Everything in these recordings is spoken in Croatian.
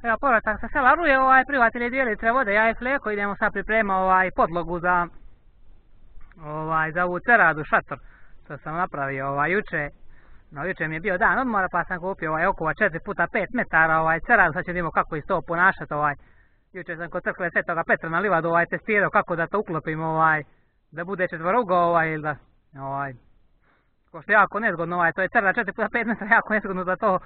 Evo, povratak sa sela Ruje, prihvatili 2 litre vode, ja i Fleko, idemo sad priprema podlogu za ovu ceradu, šator, što sam napravio juče. No, juče mi je bio dan odmora, pa sam kupio okova 4x5 metara ceradu, sad ćemo vidimo kako iz to ponašati. Juče sam kod crkve Svetoga Petra na livadu testirao kako da to uklopim, da bude četvorougo, ili da, ko što je jako nezgodno, to je cerada 4x5 metara, jako nezgodno da to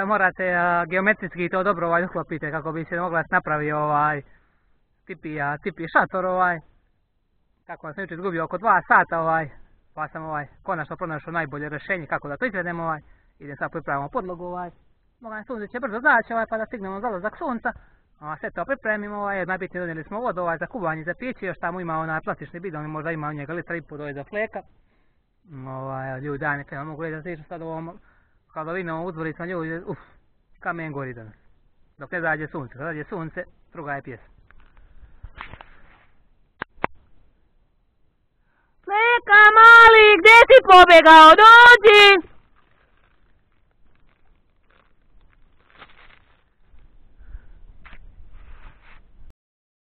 morate geometrijski to dobro uklopite kako bi se mogla napravi tipi šator, kako sam juče izgubio oko 2 sata, pa sam konačno pronašao najbolje rješenje kako da to izvedemo, idem sad pripravimo podlogu, sunce će brzo zaći, pa da stignemo zalazak sunca, sve to pripremimo, najbitnije donijeli smo vodu za kuvanje, za piće, još tamo ima plastični bidon, možda ima njega litra i pol za Fleka. Ljudi, daj neka, mogu reći da stižu sad ovom hladovinovom uzvoricom, ljudi, kamen gori danas. Dok ne zađe sunce, kad zađe sunce, druga je pjesma. Fleka mali, gdje si pobjegao, dođi!